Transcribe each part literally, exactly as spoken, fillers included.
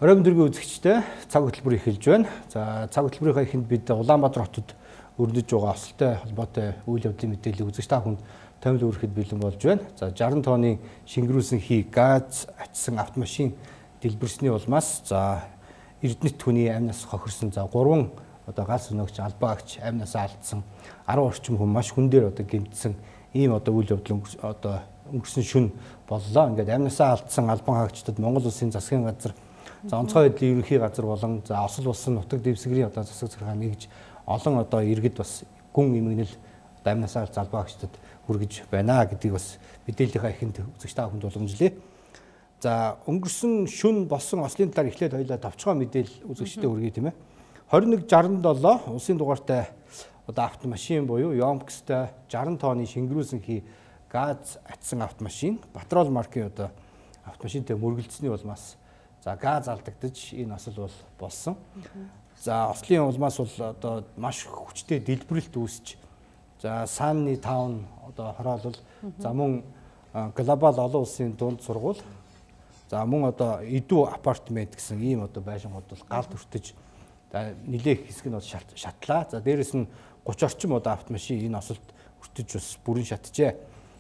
Оройн өдрийн үзэгчтэй цаг хөтөлбөр эхэлж байна. За цаг хөтөлбөрийнхаа эхэнд бид Улаанбаатар хотод өрнөж байгаа ослтой холбоотой үйл явдлын мэдээллийг үзэгч та бүхэнд томил өргөхөд бэлэн болж байна. За шаран тонны шингэрүүлсэн хий газ ачсан автомашин дэлбэрсний улмаас за Эрдэнэт хүний амнаас хохирсон за гурван одоо газ өнөөгч албаагч амнаас алдсан арван орчим хүн маш хүн дээр одоо гэмтсэн ийм одоо үйл явдал одоо өнгөрсөн шөнө боллоо. Ингээд амнаасаа алдсан албан хаагчдад Монгол Улсын засгийн газар за онцгой байдлын ерөнхий газар болон за осол улсын нутаг дэвсгэрийн одоо засаг захиргаа нэгж олон одоо иргэд бас гүн эмгэнэл амнаасаа залбаагчдад хүргэж байна гэдгийг бас мэдээллийнхаа эхэнд үзэгч та бүхэнд боломжлээ. За өнгөрсөн шөнө болсон ослын талаар эхлээд хоёлаа товчгоо мэдээлэл үзэгчдэд хүргэе тийм ээ. двадцать one sixty-seven улсын дугаартай одоо автомашин буюу Yonkстай шаран тонны шингэрүүлсэн хий газ ачсан автомашин Патрол маркийн одоо автомашинтай мөргөлдсөний улмаас за газ алдагдаж энэ осол бол болсон. За ослын улмаас бол одоо маш хүчтэй дэлбэрэлт үүсч за Санны таун одоо хороолол за мөн глобал олон улсын дунд сургууль за мөн одоо Эдүү апартмент гэсэн ийм одоо байшингууд бол галд өртөж нэлээх хэсэг нь бол шатлаа. За дээрэс нь thirty орчим одоо автомашин энэ осолд өртөж бас бүрэн шатжээ.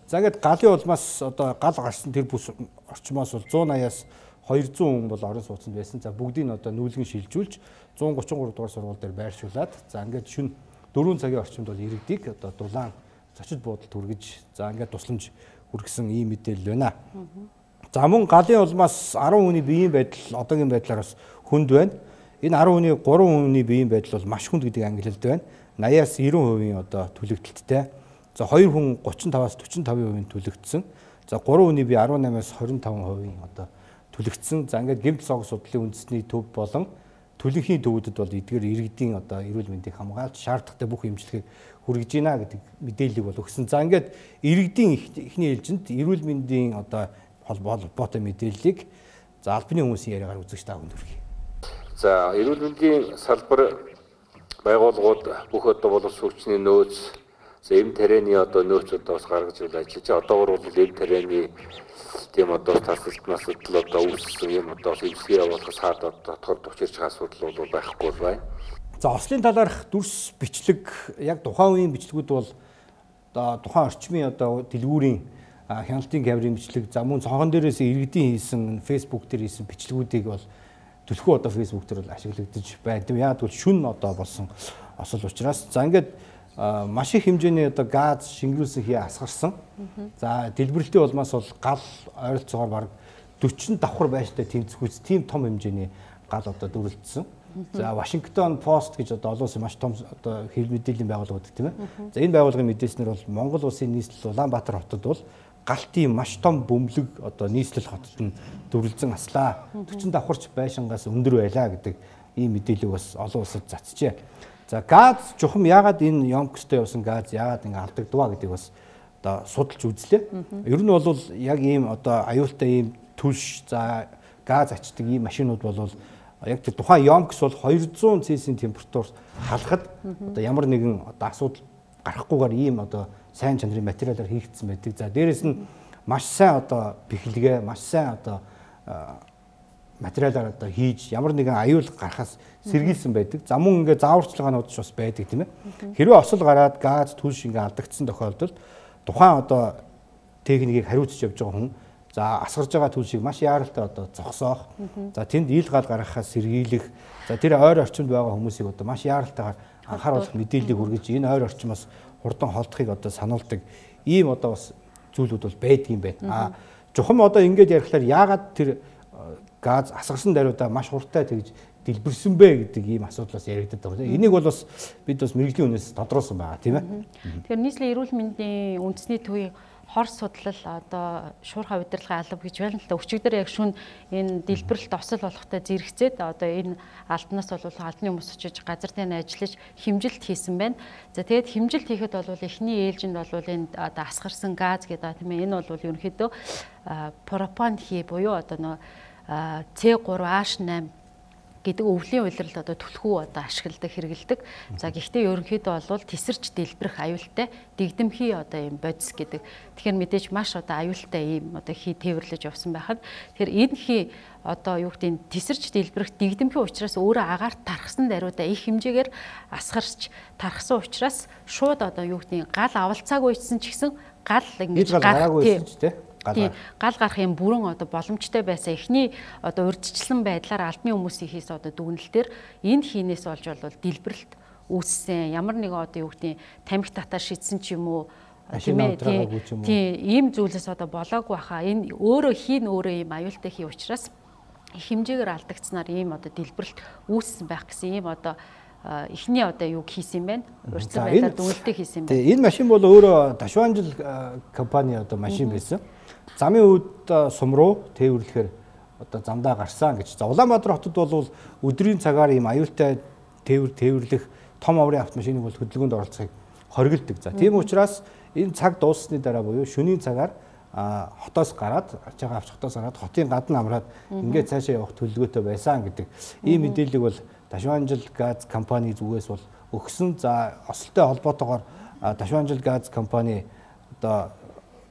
За ингээд галын улмаас одоо гал гарсан тэр бүс орчмоос бол one eighty-аас two hundred хүн бол орон сууцнд байсан. За бүгдийг нь одоо нүүлгэн шилжүүлж one thirty-three дугаар сургууль дээр байршуулад за ингээд шүн four цагийн орчимд бол иргэдийг одоо дулаан зочид буудалд хүргэж за ингээд тусламж хүргэсэн ийм мэдээлэл байна. За мөн галын улмаас ten хүний биеийн байдал одоогийн байдлаар бас хүнд байна. Энэ ten хүний three хүний биеийн байдал бол маш хүнд гэдэг ангилалд байна. eighty-аас ninety percent одоо түлэгдэлттэй. За two хүн thirty-five-аас forty-five percent түлэгдсэн. За three хүний бие eighteen-аас twenty-five percent одоо түлэгдсэн. За ингээд гэмт цог судлалын үндэсний төв болон төлөнхийн төвүүдэд бол эдгээр иргэдийн одоо эрүүл мэндийг хамгаалж шаардлагатай бүх эмчилгээг хүргэж байна гэдэг мэдээллийг бол өгсөн. За ингээд иргэдийн эхний ээлжинд эрүүл мэндийн одоо холбоотой мэдээллийг за албаны хүмүүсийн яриагаар үзэж та бүхэнд хүргэе. За эрүүл мэндийн салбар байгууллагууд бүх одоо боловс хүчний нөөц за эм тарианы одоо нөөц одоо бас гаргаж ажиллаж байгаа. Одоогор бол эм тарианы тийм одоо тасалбарт асуудал одоо үүссэн юм одоо эмчилгээ явуулахаас хаад одоо тодорхой төвчөрч байгаа асуудал бол байхгүй байна. За ослын талаарх дүрс бичлэг яг тухайн үеийн бичлэгүүд бол одоо тухайн орчмын одоо дэлгүүрийн хяналтын камерын бичлэг за мөн цонхон дээрээс иргэдийн хийсэн фейсбુક дээр хийсэн бичлэгүүдийг бол төлхөө одоо фейсбુક дээр бол ашиглагдаж байдаг. Яг тэгвэл шүн одоо болсон осол учраас за ингээд маш их хэмжээний одоо газ шингэрүүлсэн хий асгарсан. За дэлбэрэлтийн улмаас бол гал ойролцоогоор бараг forty давхар байштай тэмцэхүйц тийм том хэмжээний гал одоо дүрлэлтсэн. За Вашингтон Пост гэж одоо олон улсын маш том одоо хэвлэл мэдээллийн байгууллага гэдэг тийм ээ. За энэ байгууллагын мэдээснээр бол Монгол улсын нийслэл Улаанбаатар хотод бол галтын маш том бөмбөлөг одоо нийслэл хотод нь дүрлэлзэн аслаа. forty давхарч байшингаас өндөр байлаа гэдэг ийм мэдээлэл бас олон улсад цацжээ. За газ чухам яагаад энэ Yonkстой явсан газ яагаад ингэ алдагдваа гэдгийг бас одоо судалж үзлээ. Ер нь бол яг ийм одоо аюултай ийм түлш за газ ачдаг ийм машинууд бол яг тэр тухайн Yonkс бол two hundred Цельсийн температурт халахад одоо ямар нэгэн одоо асуудал гарахгүйгээр ийм одоо сайн чанарын материалаар хийгдсэн байдаг. За дээрэс нь маш сайн одоо бэхлэгээ, маш сайн одоо материалаар одоо хийж ямар нэгэн аюул гарахаас сэргийлсэн байдаг. За мөн ингээ зааварчилгаанууд ч бас байдаг тийм ээ. Хэрвээ осол гараад газ түлш ингээ алдагдсан тохиолдолд тухайн одоо техникийг хариуцж явж байгаа хүн за асгарж байгаа түлшийг маш яаралтай одоо зогсоох. За тэнд ил гал гаргахаас сэргийлэх. За тэр ойр орчимд байгаа хүмүүсийг одоо маш яаралтайгаар анхааруулах мэдээллийг хүргэж энэ ойр орчмоос хурдан холдохыг одоо сануулдаг ийм одоо бас зүйлүүд бол байдгийн байна. А чухам одоо ингээд ярихлаар яагаад тэр газ асгарсан даруйдаа маш хурдтай тэгж дэлбэрсэн бэ гэдэг ийм асуудлаас яригддаг байна. Энийг бол бас бид бас мэрэгжлийн үнээс тодруулсан байгаа тийм ээ. Тэгэхээр нийслэлийн эрүүл мэндийн үндэсний төвийн хор судлал одоо шуурхай удирдлагын алба гэж байна л да. Өчигдөр яг шүн энэ дэлбэрэлт осол болохтой зэрэгцээд одоо энэ албанаас бол албаны хүмүүс очиж газар дээр ажиллаж хэмжилт хийсэн байна. За тэгээд хэмжилт хийхэд бол эхний ээлжинд бол энэ одоо асгарсан газ гэдэг тийм ээ. Энэ бол ерөнхийдөө пропан хий буюу одоо нөө C three H eight гэдэг өвлийн улиралд одоо түлхүү одоо ашигладаг, хэрэгэлдэг. За гэхдээ ерөнхийдөө бол тесэрч дэлбэрэх аюултай дэгдэмхий одоо ийм бодис гэдэг. Тэгэхээр мэдээж маш одоо аюултай ийм одоо хий тээвэрлэж явсан байхад тэгэхээр энэ хий одоо юу гэдэг нь тесэрч дэлбэрэх дэгдэмхий учраас өөрөө агаарт тархсан даруйдаа их хэмжээгээр асгарч тархсан учраас шууд одоо юу гэдэг нь гал авалцаагүй ийдсэн ч гэсэн гал ингэж гараагүй байсан ч тийм гал гарах юм бүрэн одоо боломжтой байсан эхний одоо урьдчилсан байдлаар албаны хүмүүсийн хийс одоо дүгнэлтээр энэ хийнээс болж бол дэлбэрэлт үүссэн ямар нэгэн одоо юу гэдэг тамхи татаар шидсэн ч юм уу тийм ийм зүйлээс одоо болоогүй хаа энэ өөрөө хийн өөрөө ийм аюултай хий учраас их хэмжээгээр алдагдсанаар ийм одоо дэлбэрэлт үүссэн байх гэсэн ийм одоо эхний одоо юг хийсэн юм байна. Урьдчилсан байдлаар дүгнэлтийг хийсэн юм байна. Энэ машин бол өөрөө Дашванжил компани одоо машин байсан. Замын үед сум руу тээвэрлэхээр одоо замдаа гарсан гэж. За Улаанбаатар хотод бол өдрийн цагаар ийм аюултай тээвэр тээвэрлэх том аврын автомашиныг бол хөдөлгөөнд оролцохыг хориглодог. За тийм учраас энэ цаг дууссаны дараа буюу шөнийн цагаар хотоос гараад ачаага авч хотоос гараад хотын гадна амраад ингээд цаашаа явах төлөвлөгөөтэй байсан гэдэг ийм мэдээллийг бол Дашванжил газ компани зүгээс бол өгсөн. За ослтой холбоотойгоор Дашванжил газ компани одоо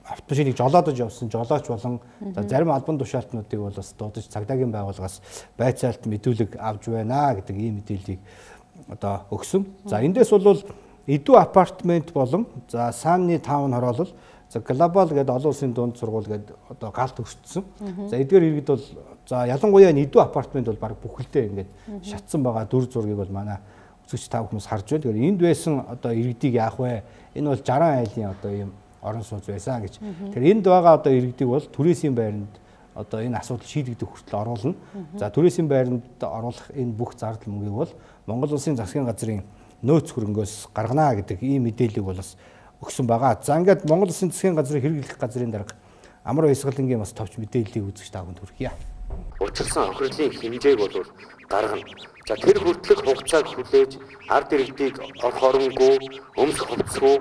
автомашиныг жолоодож явсан жолооч болон за зарим албан тушаалтнуудыг бол бас дуудаж цагдаагийн байгууллагаас байцаалт мэдүүлэг авч байна гэдэг ийм мэдээллийг одоо өгсөн. За эндээс бол Эдүү апартмент болон за Санны таун хороолол за глобал гэдэг олон улсын дунд сургууль гэдэг одоо галт өссөн. За эдгээр иргэд бол за ялангуяа энэ Эдүү апартмент бол баг бүхэлдээ ингээд шатсан байгаа дүр зургийг бол манай үзэгч та бүхэн харж байна. Тэгэхээр энд байсан одоо иргэдийг яах вэ? Энэ бол жаран айлын одоо ийм орон сууц байсан гэж. Тэгэхээр энд байгаа одоо иргэдийг бол түрээсийн байранд одоо энэ асуудал шийдэгдэх хүртэл оруулна. За түрээсийн байранд оруулах энэ бүх зардал мөнгийг бол Монгол Улсын засгийн газрын нөөц хөрөнгөөс гаргана гэдэг ийм мэдээллийг бол бас өгсөн байгаа. За ингээд Монгол Улсын засгийн газрын хэрэглэх газрын дарга Амар Баясгалангийн бас товч мэдээллийг үзэж та бүхэнд хүргье. Учирсан охирлын хэмжээг бол гаргана. За тэр хүртэлх хугацааг хүлээж ард иргэдийг орох оронгүй, өмсөх хувцсгүй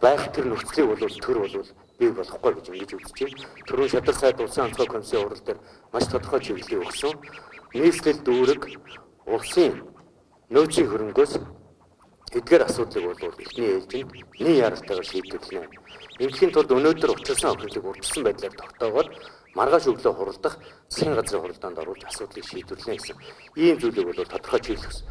байх тэр нөхцөлийг бол төр бол бий болохгүй гэж ингэж үзэж байна. Түрүүн Шадар сайд улсын онцгой комиссийн урал дээр маш тодорхой чиглэлийг өгсөн. Нийслэл дүүрэг улсын нөөцийн хөрөнгөөс эдгээр асуудлыг бол эхний ээлжинд нэг яралтайгаар шийдэх нэ. Инхийн тулд өнөөдөр учирсан охирлыг урьдчилсан байдлаар тогтоогоод маргааш өглөө хуралдах засгийн газрын хуралдаанд оруулж асуудлыг шийдвэрлэнэ гэсэн ийм зүйлийг бол тодорхой чиглэлсэн.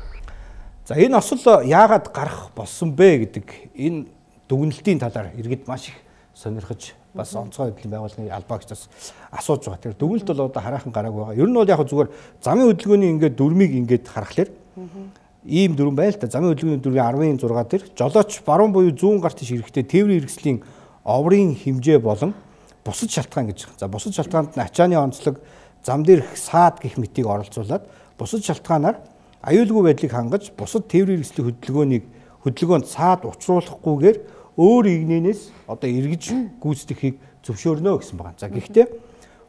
За энэ осол яагаад гарах болсон бэ гэдэг энэ дүгнэлтийн талаар иргэд маш их сонирхож бас онцгой хөдөлгөөний байгууллагын албаагч бас асууж байгаа. Тэр дүгнэлт бол одоо хараахан гараагүй байгаа. Ер нь бол яг зүгээр замын хөдөлгөөний ингээд дүрмийг ингээд харахаар ийм дүрм байл та. Замын хөдөлгөөний дүрмийн арван зураг дээр жолооч баруун буюу зүүн гарт иш ирэхдээ тээврийн хэрэгслийн оврын хэмжээ болон бусад шалтгаан гэж. За бусад шалтгаанд нь ачааны онцлог, зам дээрх саад гэх мэтийг оролцуулаад бусад шалтгаанаар аюулгүй байдлыг хангаж бусад тээврийн хэрэгслийн хөдөлгөөнийг хөдөлгөөнд саад учруулахгүйгээр өөр игнэнээс одоо эргэж гүйцэтгэхийг зөвшөөрнө гэсэн байна. За гэхдээ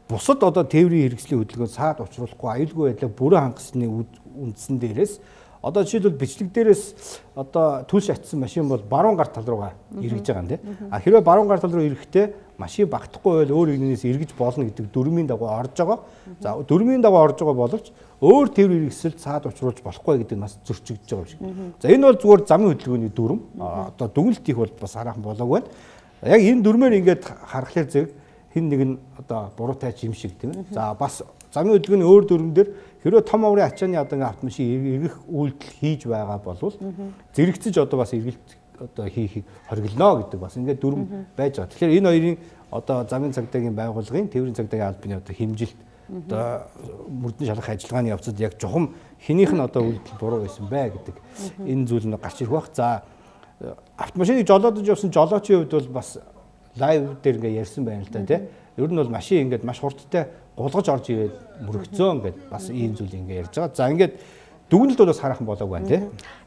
бусад одоо тээврийн хэрэгслийн хөдөлгөөнд саад учруулахгүй аюулгүй байдлыг бүрэн хангасны үндсэн дээрээс одоо жишээлбэл бичлэг дээрээс одоо түлш атсан машин бол баруун гар тал руугаа эргэж байгаа юм тийм. А хэрвээ баруун гар тал руу эрэхтэй машин багтахгүй байл өөр игнэнээс эргэж болно гэдэг дүрмийн дагуу орж байгаа. За дүрмийн дагуу орж байгаа боловч өөр тээврийн хэрэгсэлд цаад учруулж болохгүй гэдэг нь бас зөрчигдөж байгаа юм шиг. За энэ бол зүгээр замын хөдөлгөөний дүрм. Одоо дүгнэлт их бол бас хараахан болоогүй байна. Яг энэ дүрмээр ингээд харахаар зэрэг хин нэг нь одоо буруутай юм шиг тийм ээ. За бас замын хөдөлгөөний өөр дүрмээр хэрвээ том аврын ачааны одоо ингээд автомашин эргэх үйлдэл хийж байгаа болвол зэрэгцэж одоо бас эргэлт одоо хийхийг хориглоно гэдэг бас ингээд дүрм байж байгаа. Тэгэхээр энэ хоёрын одоо замын цагдаагийн байгууллагын тээврийн цагдаагийн албаны одоо хэмжилт одоо мөрдөн шалгах ажиллагааны явцад яг жухам хэнийх нь одоо үйлдэл буруу байсан бэ гэдэг энэ зүйл нь гарч ирэх бах. За автомашиныг жолоодож явсан жолоочийн хувьд бол бас лайв дээр ингээд ярьсан байна л да тий. Ер нь бол машин ингээд маш хурдтай гулгаж орж ирээд мөрөгцөө ингээд бас ийм зүйл ингээд ярьж байгаа. За ингээд дүгнэлт бол бас хараахан болоогүй байна тий.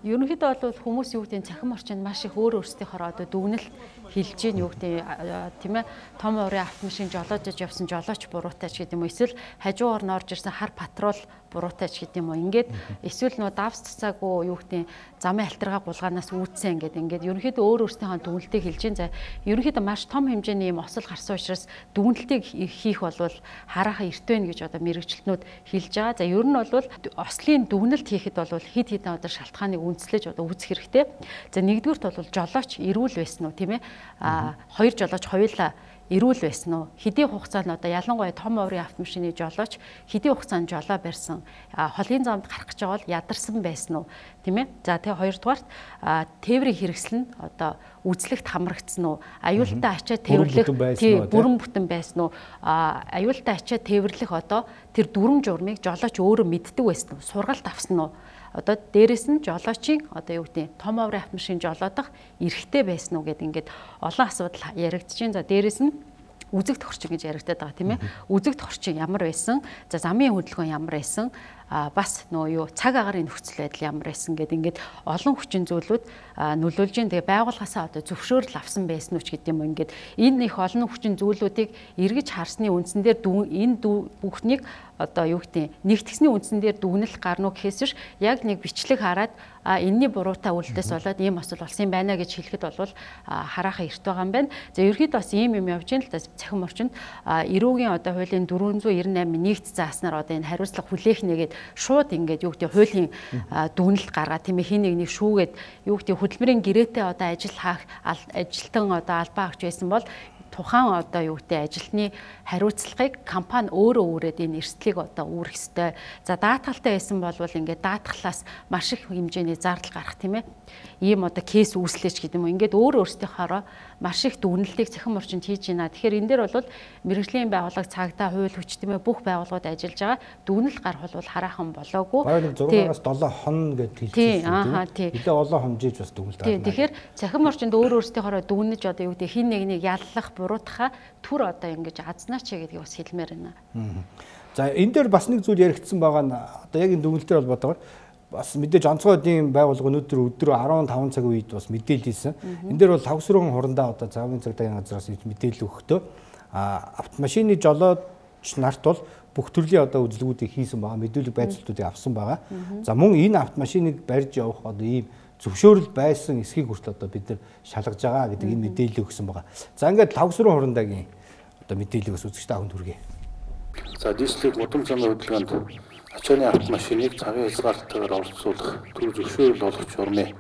Ерөнхийдөө бол хүмүүс юу гэдэг цахим орчинд маш их өөр өөрсдийнхөө одоо дүгнэлт хэлж гин юу гэдэг тийм ээ том урын автомашин жолоодож явсан жолооч буруутай ч гэдэг юм уу эсвэл хажуугаар нь орж ирсэн хар патрул буруутай ч гэдэг юм уу. Ингээд эсвэл нөө давс цацаагүй юу гэдэг замын альтрага гулгаанаас үүдсэн ингээд ингээд ерөнхийдөө өөр өөрсдийнхөө дүгнэлтийг хэлж ин за ерөнхийдөө маш том хэмжээний юм осол гарсан учраас дүгнэлтийг хийх болвол хараахан эрт байна гэж одоо мэрэгчлэтнүүд хэлж байгаа. За ер нь бол ослын дүгнэлт хийхэд бол хид хідэн одоо шалтгааныг үндэслэж одоо үүсэх хэрэгтэй. За нэгдүгürt бол жолооч эрүүл байсан уу тийм ээ. А хоёр жолооч хоёулаа эрүүл байсан уу? Хэдийн хугацаанд одоо ялангуяа том оврын автомашины жолооч хэдийн хугацаанд жолоо барьсан? Холын замд гарах гэж байгаа бол ядарсан байсан уу? Тийм ээ. За тэгээ хоёрдугаарт тээврийн хэрэгсэл нь одоо үзлэгт хамрагдсан уу? Аюултай ачаа тээвэрлэх тий бүрэн бүтэн байсан уу? Аюултай ачаа тээвэрлэх одоо тэр дүрм журмыг жолооч өөрөө мэддэг байсан уу? Сургалт авсан уу? Одоо дээрэс нь жолоочийн одоо юу гэдэг том оврын автомашин жолоодох эрхтэй байсан уу гэдэг ингээд олон асуудал яригдчихээн. За дээрэс нь үзэгт орчин гэж яригдаад байгаа тийм ээ. Үзэгт орчин ямар байсан? За замын хөдөлгөөн ямар байсан? А бас нөө юу цаг агаарын нөхцөл байдал ямар байсан гэдэг ингээд олон хүчин зүйлүүд нөлөөлж ин тэгээ байгууллагаасаа одоо зөвшөөрөл авсан байсан уу ч гэдэг юм ингээд энэ их олон хүчин зүйлүүдийг эргэж харсны үндсэн дээр энэ бүхнийг одоо юу гэдэг нэгтгэсний үндсэн дээр дүгнэлт гарна уу гэхээс биш яг нэг бичлэг хараад а энэний буруутай үйлдэлээс болоод ийм осол болсон юм байна гэж хэлэхэд бол хараахан эрт байгаа юм байна. За ерөөхдөө бас ийм юм явж ийн л да цахим орчинд эрүүгийн одоо хуулийн дөрвөн зуун девяносто восемь нэгт зааснаар одоо энэ хариуцлага хүлээх нэгээд шууд ингээд юу гэдэг хуулийн дүгнэлт гаргаад тийм ээ хин нэг нэг шүүгээд юу гэдэг хөдөлмөрийн гэрээтэй одоо ажил хаах ажилтан одоо албаа авч байсан бол тухайн одоо юу гэдэг ажилтны хариуцлагыг компани өөрөө өөрөөд энэ эрсдлийг одоо үүрэх ёстой. За даатгалтай байсан бол ингээд даатгалаас маш их хэмжээний зардал гарах тийм ээ. Ийм одоо кейс үүслэж гэдэг юм уу. Ингээд өөр өөрсдийнхоороо маш их дүгнэлтийг цахим орчинд хийж байна. Тэгэхээр энэ дээр бол мэрэгжлийн байгууллага цагдаа хууль хүч тийм ээ бүх байгууллагууд ажиллаж байгаа. Дүгнэлт гарах бол хараахан болоогүй. Бараг зургаараас долоо хон гэж хэлчихсэн. Тийм аа тийм. Хэдэн олон хонжиж бас дүгнэлт гарна. Тийм. Тэгэхээр цахим орчинд өөр өөрсдийнхоороо дүгнэж одоо юу гэдэг хин нэг нэг яллах буруутахаа түр одоо ингэж азнаач гэдгийг бас хэлмээр байна. За энэ дээр бас нэг зүйл яригдсан байгаа нь одоо яг энэ дүгнэлтээр холбоотойгоор бас мэдээж онцгойдын байгууллага өнөөдөр өдөр арван таван цаг үед бас мэдээлэл хийсэн. Энэ дээр бол тавсрын хурандаа одоо цагийн цагдаагийн газраас мэдээлэл өгөхдөө автомашины жолооч нарт бол бүх төрлийн одоо үзлэгүүдийг хийсэн байгаа, мэдүүлэг байцаалтуудыг авсан байгаа. За мөн энэ автомашиныг барьж явах одоо ийм зөвшөөрөл байсан эсхийг хүртэл одоо бид нар шалгаж байгаа гэдэг энэ мэдээлэл өгсөн байгаа. За ингээд тавсрын хурандагийн одоо мэдээллийг бас үзэгч та бүхэнд хүргэе. За дийслийг модон замын хөдөлгөөнд ачааны автомашиныг цагийн хязгаартайгаар оролцуулах төр зөвшөөрөл олох журмын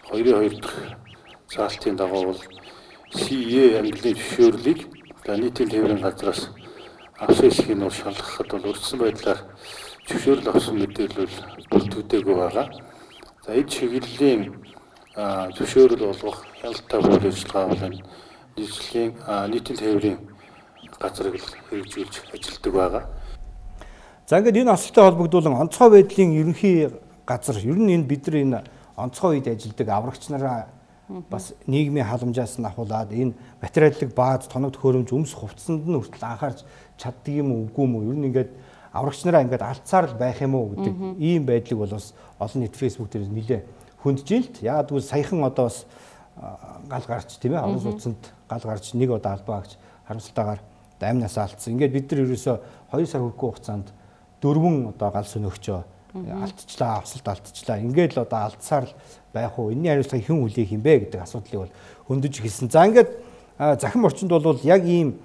хоёрын хоёр дахь заалтын дагуу бол си и английн зөвшөөрлийг нийтийн тээврийн газраас авсан эсхийг нь шалгахад бол өртсөн байдлаар зөвшөөрөл авсан мэдээлэл бүрдэгдээгүй байгаа. За эд чиглэлийн зөвшөөрөл олгох хяналттай үйл ажиллагаа бол нийслэлийн нийтийн тээврийн газрыг хэрэгжүүлж ажилладаг байгаа. За ингээд энэ осолтой холбогдуулан онцгой байдлын ерөнхий газар ер нь энэ бид нар энэ онцгой үед ажилладаг аврагч нараа бас нийгмийн халамжаас нь ахуулаад энэ материаллык бааз тоног төхөөрөмж өмс хувцсанд нь хүртэл анхаарч чаддаг юм уу үгүй юм уу ер нь ингээд аврагч нараа ингээд алдсаар л байх юм уу гэдэг ийм байдлыг бол бас олон нийт фэйсбүүк дээр нэлээ хүндж ийн л яа гэвэл саяхан одоо бас гал гарч тийм ээ аврагч судсанд гал гарч нэг удаа албаа агч харамсалтайгаар амнаас алдсан. Ингээд бид нар ерөөсөө хоёр сар хүрэх хугацаанд дөрвөн одоо гал сөнөгчөө алдчихлаа, авсалт алдчихлаа. Ингээд л одоо алдсаар л байх уу? Энэний хариуцлагыг хэн хүлээх юм бэ гэдэг асуудлыг бол хөндөж хэлсэн. За ингээд захим орчинд бол яг ийм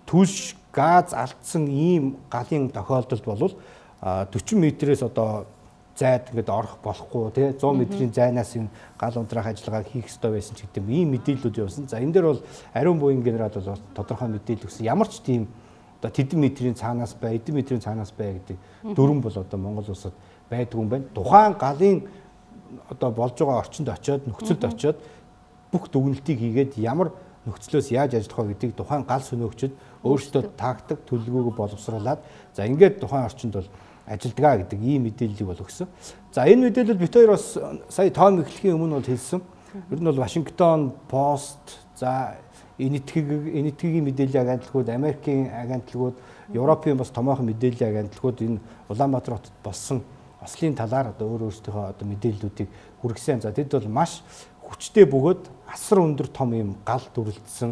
түлш газ алдсан ийм галын тохиолдолд бол forty метрээс одоо зайд ингээд орох болохгүй тий one hundred метрийн зайнаас энэ гал унтраах ажиллагааг хийх ёстой байсан ч гэдэг ийм мэдээлэлүүд явсан. За энэ дээр бол ариун буян генерал бол тодорхой мэдээлэл өгсөн. Ямар ч тийм одоо тэдэн метрийн цаанаас бай, эдэн метрийн цаанаас бай гэдэг дүрэн бол одоо Монгол улсад байдаг юм байна. Тухайн галын одоо болж байгаа орчинд очиод нөхцөлд очиод бүх дүгнэлтийг хийгээд ямар нөхцлөөс яаж ажиллах вэ гэдгийг тухайн гал сөнөөгчд өөрсдөө тактик төлөвлөгөөгөө боловсруулад за ингээд тухайн орчинд бол ажилдгаа гэдэг ийм мэдээллийг бол өгсөн. За энэ мэдээлэл бит хоёр бас сая тоон эхлэхийн өмнө бол хэлсэн. Ер нь бол Вашингтон Пост, за энэтхэг энэтхэгийн мэдээллийн агентлагууд, Америкийн агентлагууд, Европын бас томоохон мэдээллийн агентлагууд энэ Улаанбаатар хотод болсон ослын талаар одоо өөр өөрсдийнхөө одоо мэдээллүүдийг хүргэсэн. За тэд бол маш хүчтэй бөгөөд асар өндөр том юм гал дүрлэлтсэн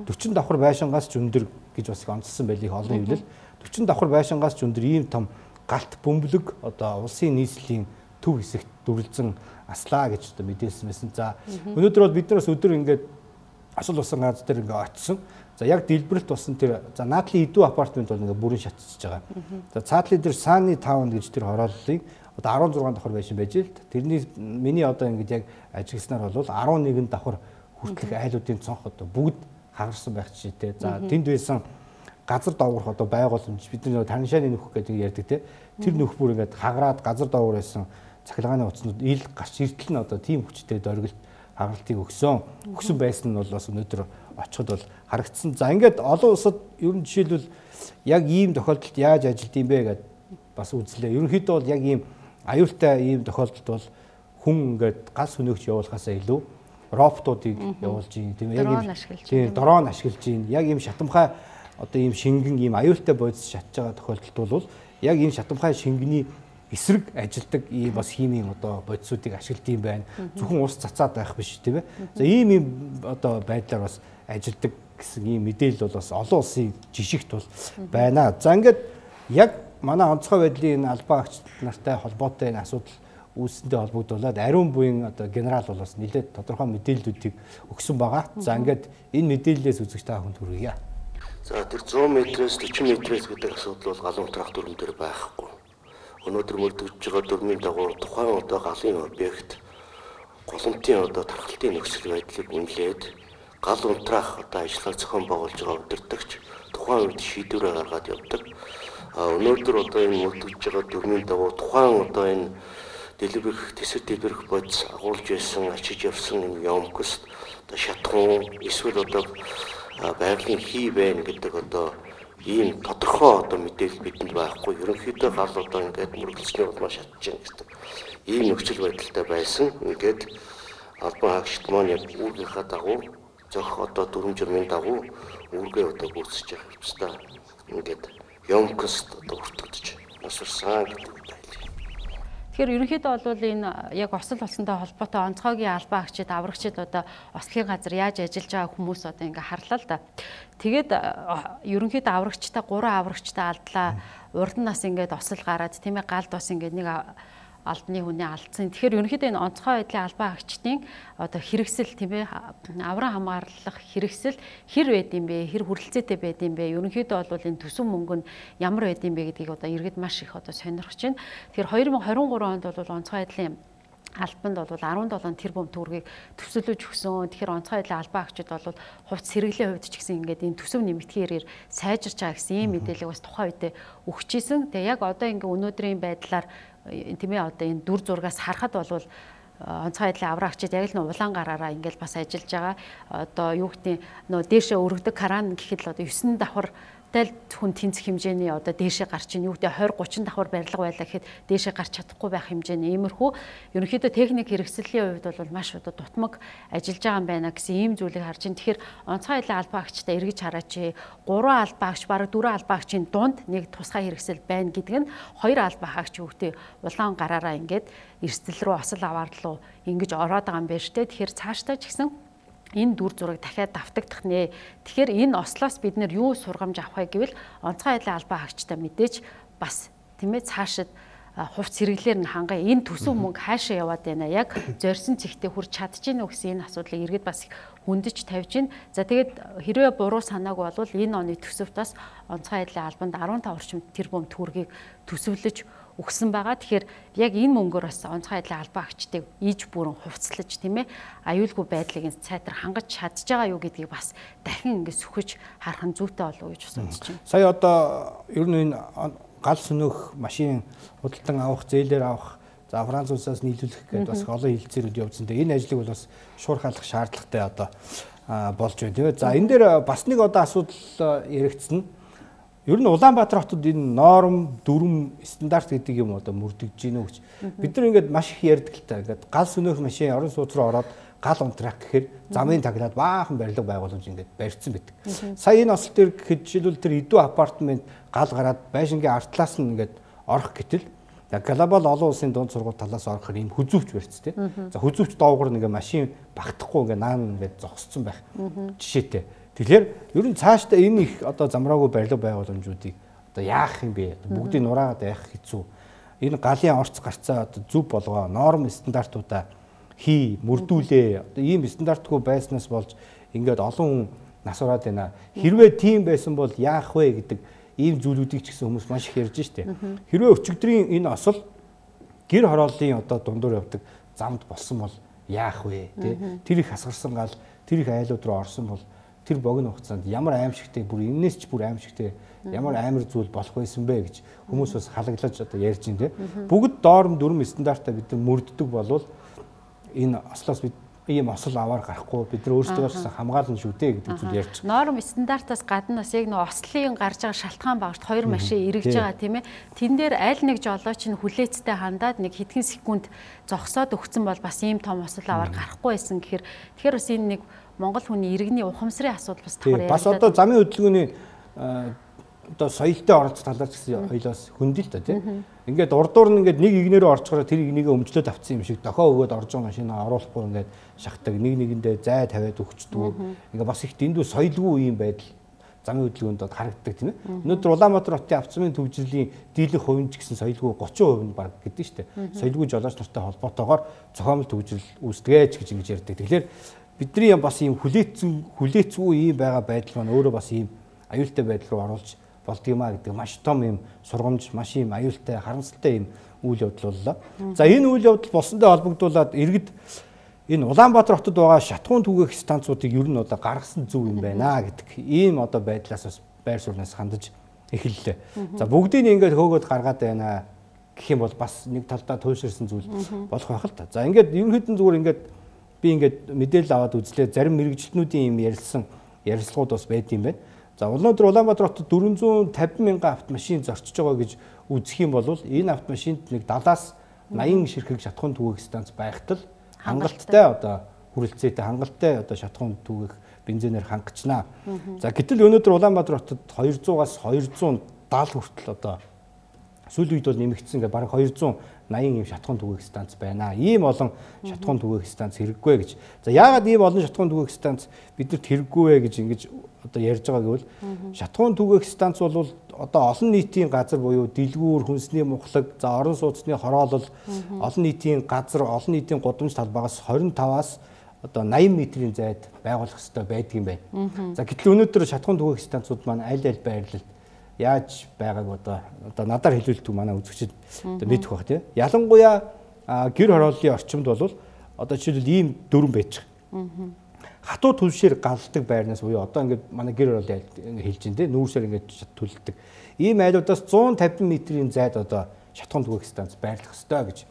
forty давхар байшингаас ч өндөр гэж бас их онцлсан байл их олон хэвлэл forty давхар байшингаас ч өндөр ийм том галт бөмбөлөг одоо улсын нийслэлийн төв хэсэгт дүрлзэн аслаа гэж одоо мэдээлсэн байсан. За өнөөдөр бол бид нараас өдөр ингээд асуул усан ганц дээр ингээд очсон. За яг дэлбэрэлт болсон тэр за наадлын Идүү апартмент бол ингээд бүрэн шатчихж байгаа. За цаатлын дээр Сааны таунд гэж тэр хорооллын одоо арван зургаан давхар байшин байж л тэрний миний одоо ингээд яг ажигласнаар бол арван нэгэн давхар хүртэлх айлуудын цонх одоо бүгд хагарсан байх жишээтэй. За тэнд байсан газар доогорх одоо байгууламж бидний нөгөө таншааны нөхөх гэдэг ярьдаг те. Тэр нөх бүр ингээд хагараад газар доогор байсан цахилгааны утаснууд ил гарч иртэл нь одоо тийм хүчтэй дөргөлт хагаралтыг өгсөн. Өгсөн байсан нь бол бас өнөөдөр очиход бол харагдсан. За ингээд олон улсад ер нь жишээлбэл яг ийм тохиолдолд яаж ажилд юм бэ гэдээ бас үзлээ. Ерөнхийдөө бол яг ийм аюултай ийм тохиолдолд бол хүн ингээд гал сүнөөгч явуулахаасаа илүү роботуудыг явуулж юм тийм яг ийм дрон ашиглаж юм. Яг ийм шатамхай одоо ийм шингэн ийм аюултай бодис шатж байгаа тохиолдолд бол яг ийм шатамхай шингэний эсрэг ажилдаг ийм бас химийн одоо бодисуудыг ашигладаг юм байна. Зөвхөн ус цацаад байх биш тийм ээ. За ийм ийм одоо байдлаар бас ажилдаг гэсэн ийм мэдээлэл бол бас олон улсын жишгт бол байна. За ингээд яг манай онцгой байдлын энэ албан агч нартай холбоотой энэ асуудал үүсэндээ холбогдуулаад ариун буян одоо генерал бол бас нэлээд тодорхой мэдээллүүдийг өгсөн байгаа. За ингээд энэ мэдээллээс үзэгч та хүнд хүргье. За тэр зуун метрээс forty метрээс гэдэг асуудал бол галын унтраах дүрм дээр байхгүй. Өнөөдөр мөрдөгдөж байгаа дүрмийн дагуу тухайн одоо галын объект голомтын одоо тархалтын нөхцөл байдлыг үнэлээд гал унтраах одоо ажиллагаа зохион байгуулж байгаа удирдагч тухайн үед шийдвэрээ гаргаад явдаг. А өнөөдөр одоо энэ мөрдөгдөж байгаа дүрмийн дагуу тухайн одоо энэ дэлбэрэх тэсвэр дэлбэрэх бодис агуулж байсан ачиж явсан энэ явмкс одоо шатхуун эсвэл одоо байгалийн хий байна гэдэг одоо ийм тодорхой одоо мэдээлэл бидэнд байхгүй. Ерөнхийдөө гал одоо ингээд мөргөлцсөний улмаа шатж байгаа гэдэг ийм нөхцөл байдалтай байсан. Ингээд албан хаагчид маань яг үүргийнхаа дагуу зөх одоо дүрм журмын дагуу үүргээ одоо гүйцэж явах хэвчээ. Ингээд ёмкост одоо хүртэгдэж насварсан гэдэг. Тэгэхээр ерөнхийдөө бол энэ яг осол болсонтой холбоотой онцгойгийн албан агчид, аврагчид одоо ослын газар яаж ажиллаж байгаа хүмүүс одоо ингээ харлаа л да. Тэгээд ерөнхийдөө аврагчтай гурван аврагчтай алдлаа. Урд нь бас ингээд осол гараад тийм ээ галд бас ингээд нэг албаны хүний алдсан. Тэгэхээр ерөнхийдөө энэ онцгой байдлын албан агчдын одоо хэрэгсэл тийм ээ авран хамгаалах хэрэгсэл хэр байд юм бэ? Хэр хүрэлцээтэй байд юм бэ? Ерөнхийдөө бол энэ төсөв мөнгө нь ямар байд юм бэ гэдгийг одоо иргэд маш их одоо сонирхож байна. Тэгэхээр twenty twenty-three онд бол онцгой байдлын албанд бол seventeen тэрбум төгрөгийг төвсөлөж өгсөн. Тэгэхээр онцгой байдлын албан агчид бол хувьц сэргэлийн хувьд ч гэсэн ингээд энэ төсөв нэмэгдэхээрээр сайжирч байгаа гэсэн ийм мэдээлэл бас тухайн үедээ өгчээсэн. Тэгээ яг одоо ингээд өнөөдрийн байдлаар тийм ээ одоо энэ дүр зургаас харахад бол онцгой байдлын аврагчид яг л нөө улаан гараараа ингээд бас ажиллаж байгаа. Одоо юу гэдэг нөө дээшээ өргөдөг кран гэхэд л одоо nine давхар тэл хүн тэнцэх хэмжээний одоо дээшээ гарч ийн юу гэдэг twenty thirty давхар барилга байлаа гэхэд дээшээ гарч чадахгүй байх хэмжээний иймэрхүү ерөнхийдөө техник хэрэгслийн хувьд бол маш одоо дутмаг ажиллаж байгаа юм байна гэсэн ийм зүйлийг харж ин. Тэгэхээр онцгой байдлын албан агчтай эргэж хараач. Гурван албан агч бараг дөрвөн албан агчийн дунд нэг тусгай хэрэгсэл байна гэдэг нь хоёр албан агч хүүхдээ улаан гараараа ингээд эрсдэл рүү осол аваарлуу ингэж ороод байгаа юм байна штэ. Тэгэхээр цаашдаа ч гэсэн энэ дүр зураг дахиад давтагдах нэ. Тэгэхээр энэ ослоос бид нэр юу сургамж авах вэ гэвэл онцгой байдлын албан хаагчтай мэдээж бас тийм ээ цаашид хувьц сэргэлээр нь хангай энэ төсөв мөнгө хаашаа яваад байна. Яг зорьсон цэгтээ хүрч чадчихна уу гэсэн энэ асуудлыг иргэд бас хүндэж тавьж байна. За тэгээд хэрвээ буруу санааг бол энэ оны төсөвт бас онцгой байдлын албанд fifteen орчим тэрбум төгрөгийг төсөвлөж өгсөн байгаа. Тэгэхээр яг энэ мөнгөөр бас онцгой байдлын албан агчдыг иж бүрэн хувцлаж тийм ээ аюулгүй байдлыг цайтар хангаж чадж байгаа юу гэдгийг бас дахин ингэ сөхөж харах нь зүйтэй болов уу гэж бодож байна. Сая одоо ер нь энэ гал сүнөх машин худалдан авах, зээлээр авах, за Франц улсаас нийлүүлэх гэдэг бас олон хилцээрүүд явуулсан. Тэгээ энэ ажлыг бол бас шуурхайлах шаардлагатай одоо болж байна тийм ээ. За энэ дээр бас нэг одоо асуудал яригдсан. Ер нь Улаанбаатар хотод энэ норм, дүрм, стандарт гэдэг юм одоо мөрдөгж гинөө гэж. Бид нар ингээд маш их ярьдаг л та. Ингээд гал сүнөх машин орон сууц руу ороод гал унтрах гэхээр замын таглаад баахан барилга байгууламж ингээд барьцсан байдаг. Сая энэ осол төр гэхэд жишээлбэл тэр Идүү апартмент гал гараад байшингийн ард талаас нь ингээд орох гэтэл глобал олон улсын дунд сургууль талаас орохоор ийм хүзүүвч барьц тий. За хүзүүвч доогуур нэг машин багтахгүй ингээд наан ингээд зогсцсон байх жишээтэй. Тэгэхээр ер нь цаашдаа энэ их одоо замраагүй барилга байгууламжуудыг одоо яах юм бэ? Бүгдийг нураагаад байх хэцүү. Энэ галын орц гарцаа одоо зөв болгоо, норм стандартуудаа хий, мөрдүүлээ. Одоо ийм стандартгүй байснаас болж ингээд олон хүн насураад байна. Хэрвээ тийм байсан бол яах вэ гэдэг ийм зүйлүүдийг ч гэсэн хүмүүс маш их ярьж штэ. Хэрвээ өчигдрийн энэ осол гэр хорооллын одоо дундуур явдаг замд болсон бол яах вэ? Тэ тэр их хасгарсан гал тэр их айлууд руу орсон бол тэр богино хугацаанд ямар аимшигтэй бүр энэс ч бүр аимшигтэй ямар амар зүйл болох байсан бэ гэж хүмүүс бас халаглаж одоо ярьж байна. Бүгд доорм дүрм стандартаа бид нар мөрддөг болвол энэ ослоос бид ийм осол аваар гарахгүй бид нар өөрсдөө хамгаална шүү дээ гэдэг зүйл ярьж байгаа. Норм стандартаас гадна бас яг нэг ослын гарч байгаа шалтгаан багт хоёр машин эргэж байгаа тийм ээ. Тэн дээр аль нэг жолооч нь хүлээцтэй хандаад нэг хэдхэн секунд зогсоод өгсөн бол бас ийм том осол аваар гарахгүй байсан гэхээр тэгэхээр бас энэ нэг Монгол хүний иргэний ухамсарын асуудал бас давхар ярьж байна. Бас одоо замын хөдөлгөөний одоо соёлтой оролцох талаар гэсэн хоёлоос хөндөй л та тийм. Ингээд урдуур нь ингээд нэг игнэрээ орчгороо тэр игнийгээ өмчлөөд авцсан юм шиг дохоо өгөөд орж байгаа машинаа оруулахгүй ингээд шахдаг нэг нэгэндээ зай тавиад өгчдөг. Ингээд бас их дэндүү соёлгүй юм байдал замын хөдөлгөөнд харагддаг тийм ээ. Өнөөдөр Улаанбаатар хотын автомобилийн төвжирлийн дийлэнх хувь ч гэсэн соёлгүй тридцать хувь нь баг гэдэг нь шүү дээ. Соёлгүй жолооч нартай холбоотойгоор зохиомжтой төвжирэл үүсдэгээч гэж ингэж ярьдаг. Тэгэхээр бидний бас ийм хүлээцүү хүлээцгүй ийм байгаа байдал маань өөрөө бас ийм аюултай байдал руу оруулж болдгиймаа гэдэг маш том ийм сургамж, маш ийм аюултай, харамсалтай ийм үйл явдал боллоо. За энэ үйл явдал болсондоо холбогдуулаад иргэд энэ Улаанбаатар хотод байгаа шатхуун түгээх станцуудыг ер нь одоо гаргасан зөв юм байна гэдэг ийм одоо байдлаас бас байр сууриас хандаж эхэллээ. За бүгдийг ингээд хөөгөөд гаргаад байна гэх юм бол бас нэг талдаа туйлширсан зүйл болох байх л та. За ингээд ерөнхийдөө зүгээр ингээд би ингээд мэдээлэл аваад үзлээ. Зарим мэрэгжилтнүүдийн юм ярилцсан ярилцлагууд бас байд юм байна. За өнөөдөр Улаанбаатар хотод дөрвөн зуун тавин мянган автомашин зорчиж байгаа гэж үзэх юм бол энэ автомашинд нэг дадлаас наян ширхэг шатхуун түгээх станц байхтал хангалттай одоо хүрэлцээтэй хангалттай одоо шатхуун түгээх бензинээр хангачнаа. За гэтэл өнөөдөр Улаанбаатар хотод двухсот-аас двухсот даатал хүртэл одоо сүүлийн үед бол нэмэгдсэн гэх бараг двухсот наян ийм шатхуун түгээх станц байна. Ийм олон шатхуун түгээх станц хэрэггүй гэж. За яагаад ийм олон шатхуун түгээх станц биднэрт хэрэггүй вэ гэж ингэж одоо ярьж байгаа гэвэл шатхуун түгээх станц бол одоо олон нийтийн газар буюу дэлгүүр, хүнсний мухлаг, за орон сууцны хороолол, олон нийтийн газар, олон нийтийн гудамж талбайгаас двадцать пять-аас одоо восемьдесят метрийн зайд байгуулах хэрэгтэй байдаг юм байна. За гэтэл өнөөдөр шатхуун түгээх станцууд маань аль аль байрлал яаж байгааг одоо одоо надаар хэлүүлдэг манай үзэгчид одоо мэдэх бах тийм. Ялангуяа гэр хорооллын орчимд бол одоо жишээлбэл ийм дөрвөн байж байгаа. Хатуу түлшээр галдаг байрнаас буюу одоо ингээд манай гэр хорооллын хэлж ин тийм нүүрсээр ингээд түлдэг. Ийм айлуудаас one hundred fifty метрийн зайд одоо шатхуун түгээх станц байрлах ёстой гэж.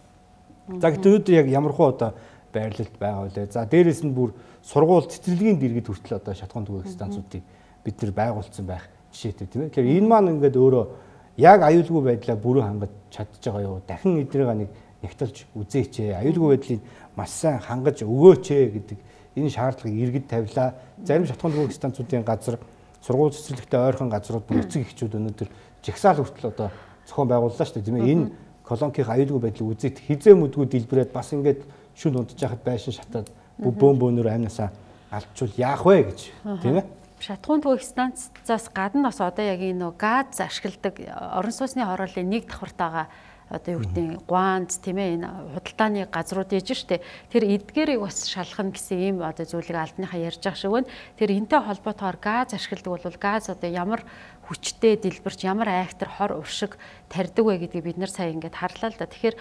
За гэтэл өнөөдөр яг ямархуу одоо байрлалд байгаа үлээ. За дээрэс нь бүр сургууль цэцэрлэгийн дэргэд хүртэл одоо шатхуун түгээх станцуудыг бид нэр байгуулсан байх жишээтэй тийм ээ. Тэгэхээр энэ маань ингээд өөрөө яг аюулгүй байдлаа бүрэн хангаж чадчих байгаа юу? Дахин эдрийг нэг нэгтэлж үзээч ээ. Аюулгүй байдлыг маш сайн хангаж өгөөч ээ гэдэг энэ шаардлагыг иргэд тавилаа. Зарим шатхуун түгээх станцуудын газар сургууль цэцэрлэгтэй ойрхон газрууд эцэг эхчүүд өнөөдөр жагсаал хүртэл одоо зохион байгууллаа шүү дээ тийм ээ. Энэ колонкийн аюулгүй байдлыг үзээд хизээ мүдгүй дэлбэрээд бас ингээд шүн унтж яхад байшин шатаад бөөн бөөнөр амнасаа алдчул яах вэ гэж тийм ээ. Шатхуун түгээх станцаас гадна бас одоо яг энэ газ ашигладаг орон сууцны хорооллын нэг давхартайгаа одоо юу гэдэг гуанз тийм ээ энэ худалдааны газрууд ээж штэ тэр эдгээрийг бас шалгах гэсэн ийм одоо зүйлийг албаныхаа ярьж байгаа шиг байна. Тэр энтэй холбоотойгоор газ ашигладаг бол газ одоо ямар хүчтэй дэлбэрч ямар айхтар хор уршиг тарьдаг вэ гэдгийг бид нар сая ингээд харлаа л да. Тэгэхээр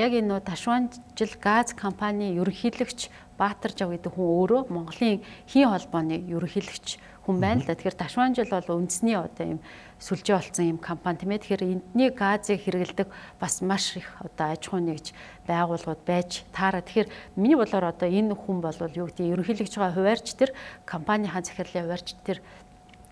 яг энэ Ташванжил газ компани ерөнхийлөгч Баатар Жав гэдэг хүн өөрөө Монголын хийн холбооны ерөнхийлөгч хүн байна л да. Тэгэхээр Ташванжил бол үндэсний одоо ийм сүлжээ болсон ийм компани тийм ээ. Тэгэхээр эндний газыг хэрэгэлдэг бас маш их одоо аж ахуй нэгж байгууллагууд байж таараа. Тэгэхээр миний бодлоор одоо энэ хүн бол юу гэдэг ерөнхийлөгч байгаа хуваарч тэр компанийн захирлын хуваарч тэр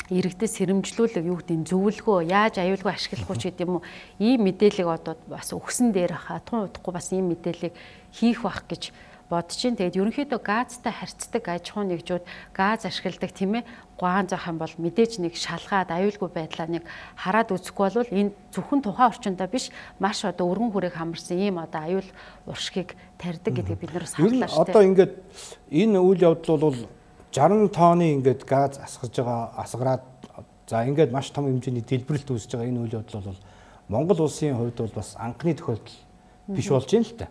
иргэдэд сэрэмжлүүлэг юу гэдэг зөвлөгөө яаж аюулгүй ашиглах уу ч гэдэг юм уу ийм мэдээллийг одоо бас өгсөн дээр хатун удахгүй бас ийм мэдээллийг хийх бах гэж бодож чинь. Тэгээд ерөнхийдөө газтай харьцдаг аж ахуй нэгжүүд газ ашигладаг тийм ээ гуан заах юм бол мэдээж нэг шалгаад аюулгүй байдлаа нэг хараад үзэхгүй бол энэ зөвхөн тухайн орчиндөө биш маш одоо өргөн хүрээг хамарсан ийм одоо аюул уршигыг тарьдаг гэдгийг бид нар бас харлаа шүү дээ. Одоо ингээд энэ үйл явдал бол sixty тонны ингээд газ асгаж байгаа асгараад За ингээд маш том хэмжээний дэлбэрэлт үүсэж байгаа энэ үйл явдал бол Монгол улсын хувьд бол бас анхны тохиолдол биш болж байна л та.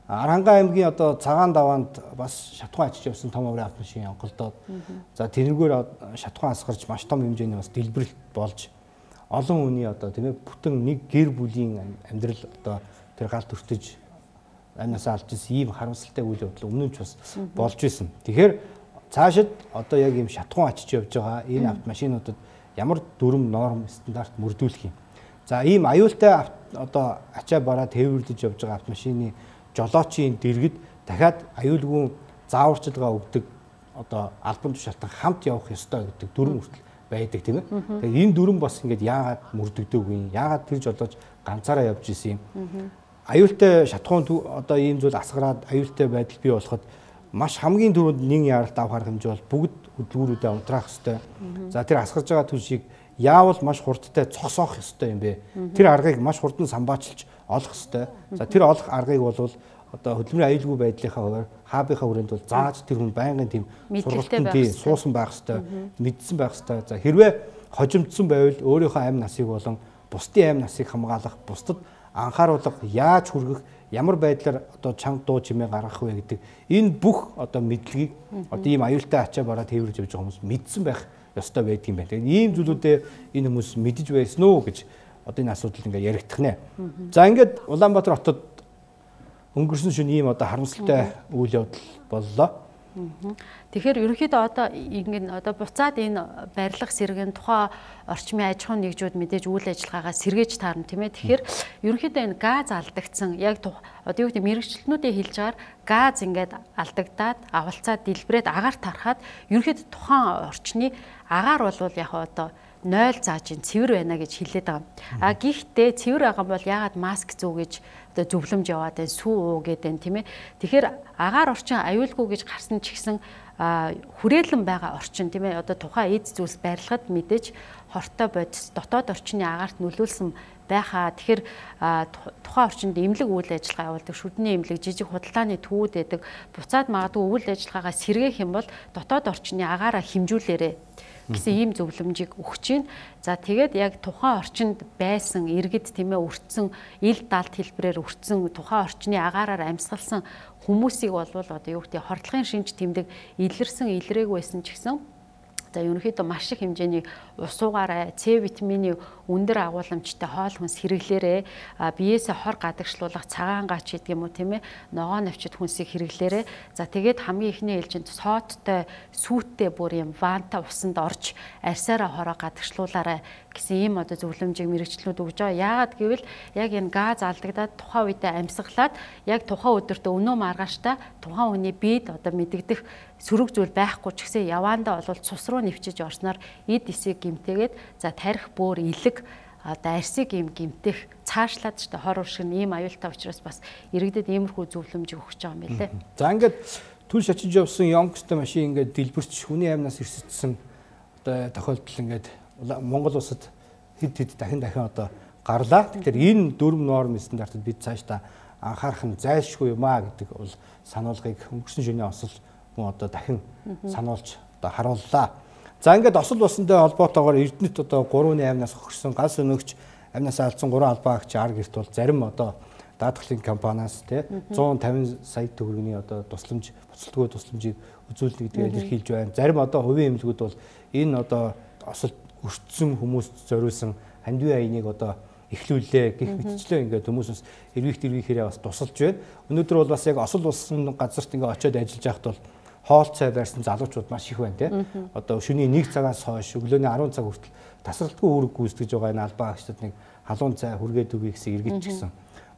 Аранга аймгийн одоо Цагаан даваанд бас шатхуун ачиж явсан том аврын автомашин онголдоод за тэрнгээр шатхуун асгарч маш том хэмжээний бас дэлбэрэлт болж олон хүний одоо тийм ээ бүтэн нэг гэр бүлийн амьдрал одоо тэр галт өртөж амнасаа алж ирсэн ийм харамсалтай үйл явдал өмнө нь ч бас болж исэн. Тэгэхээр цаашид одоо яг ийм шатхуун ачиж явж байгаа энэ автомашинуудад ямар дүрм норм стандарт мөрдүүлэх юм. За ийм аюултай одоо ачаа бараад хэвэрлэж явж байгаа автомашины жолоочийн дэргэд дахиад аюулгүй зааварчилгаа өгдөг одоо албан тушаалтан хамт явах ёстой гэдэг дүрм хүртэл байдаг тийм ээ. Тэгэхээр энэ дүрм бас ингээд яагаад мөрдөгдөөгүй, яагаад тэр жолооч ганцаараа явж исэн юм. Аюултай шатхуун одоо ийм зүйл асгараад аюултай байдал бий болоход маш хамгийн түрүүнд нэг яралт авах хэмжээ бол бүгд хөдөлгөөрүүдэд унтраах ёстой. За тэр асгарж байгаа түлшийг яавал маш хурдтай цогсоох ёстой юм бэ? Тэр аргыг маш хурдан самбаачилж олох ёстой. За тэр олох аргыг бол одоо хөдөлмөрийн аюулгүй байдлынхаа хувьд хаабынхаа хүрээнд бол зааж тэр хүн байнгын тийм сургалтанд тийм суусан байх ёстой, мэдсэн байх ёстой. За хэрвээ хожимдсан байвал өөрийнхөө амь насыг болон бусдын амь насыг хамгаалах, бусдад анхааруулга яаж хүргэх, ямар байдлаар одоо чанга дуу чимээ гаргах вэ гэдэг энэ бүх одоо мэдлэгийг одоо ийм аюултай ачаа бараад хэвэрж явж байгаа хүмүүс мэдсэн байх ёстой байдгийн байна. Тэгээд ийм зүйлүүдээ энэ хүмүүс мэдэж байсан уу гэж одоо энэ асуудал ингээ яригдах нэ. За ингээд Улаанбаатар хотод өнгөрсөн шөнө ийм одоо харамсалтай үйл явдал боллоо. Тэгэхээр ерөнхийдөө одоо ингээд одоо буцаад энэ барилга сэргэн тухайн орчмын аж ахуйн нэгжүүд мэдээж үйл ажиллагаагаа сэргээж таарна тийм ээ. Тэгэхээр ерөнхийдөө энэ газ алдагдсан яг одоо юу гэдэг мэрэгчлэнүүдийн хэлж байгаа газ ингээд алдагдаад авалцаад дэлбэрээд агаар тарахад ерөнхийдөө тухайн орчны агаар бол яг одоо ноль заажин цэвэр байна гэж хэлээд байгаа. А гэхдээ цэвэр байгаа бол яагаад маск зүүгэж одоо зөвлөмж яваад байна, сүү уу гэдэг тийм ээ. Тэгэхээр агаар орчин аюулгүй гэж гарсан ч гэсэн хүрээлэн байгаа орчин тийм ээ. Одоо тухайн эд зүйлс барилгад мэдээж хортой бодис дотоод орчны агаарт нөлөөлсөн байхаа. Тэгэхээр тухайн орчинд эмнэлэг үйл ажиллагаа явуулдаг, шүдний эмнэлэг, жижиг худалдааны төвүүд байдаг. Буцаад магадгүй үйл ажиллагаагаа сэргээх юм бол дотоод орчны агаараа хэмжүүлээрэй гэсэн ийм зөвлөмжийг өгч байна. За тэгээд яг тухайн орчинд байсан иргэд тийм ээ өртсөн ил далд хэлбэрээр өртсөн тухайн орчны агаараар амьсгалсан хүмүүсийг бол одоо юу гэдэг хордлогын шинж тэмдэг илэрсэн илрээгүй байсан ч гэсэн за ерөнхийдөө маш их хэмжээний ус уугаарай, С витамины өндөр агуулмжтай хоол хүнс хэрэглээрэй, биеэсээ хор гадагшлуулах цагаан гач гэдэг юм уу тийм ээ, ногоо навчид хүнсийг хэрэглээрэй. За тэгээд хамгийн ихний ээлжинд сооттой, сүйттэй бүр юм ванта усанд орж арьсаараа хороо гадагшлуулаарай гэсэн ийм одоо зөвлөмжийг мэрэгчлүүд өгж байгаа. Яагаад гэвэл яг энэ газ алдагдаад тухайн үедээ амьсгалаад яг тухайн өдөртөө өнөө маргааштай тухайн хүний биед одоо мэдэгдэх сөрөг зүйл байхгүй ч гэсэн яваандаа бол цус руу нэвчиж орсноор эд эсийг гимтээгээд за тарих бөөр илэг одоо арсыг юм гимтэх цаашлаад ч хор уршиг ийм аюултай учраас бас иргэдэд иймэрхүү зөвлөмж өгч байгаа юм билээ. За ингээд түл шачиж явсан Youngster машин ингээд дэлбэрч хүний амнаас ирсэтсэн одоо тохиолдол ингээд Монгол улсад хэд хэд дахин дахин одоо гарлаа. Тэгэхээр энэ дүрм норм стандартад бид цаашдаа анхаарах нь зайлшгүй юм а гэдэг бол сануулгыг өнгөрсөн шөнийн осол хүн одоо дахин сануулж одоо харууллаа. За ингээд осол болсонтой холбоотойгоор Эрдэнэт одоо гурван аймнаас хогшсон ганц өнөөгч амнаас алдсан гурван албаагч ар гэрт бол зарим одоо даатгалын компаниас тий зуун тавин сая төгрөгийн одоо тусламж буцалтгүй тусламжийг үзүүлнэ гэдгээр илэрхийлж байна. Зарим одоо хувийн эмнэлгүүд бол энэ одоо осол өртсөн хүмүүст зориулсан хандивын аяныг одоо эхлүүлээ гэх мэтчлээ ингээд хүмүүсээс эрвийх тэрвийхээрээ бас тусалж байна. Өнөөдөр бол бас яг осол болсон газарт ингээд очиод ажиллаж байхад бол хоол цай барьсан залуучууд маш их байна тий. Одоо шөнийн нэг цагаас хойш өглөөний арван цаг хүртэл тасралтгүй үүрэг гүйцэтгэж байгаа энэ албаа агчдад нэг халуун цай хүргээд өгье гэсэн иргэж гисэн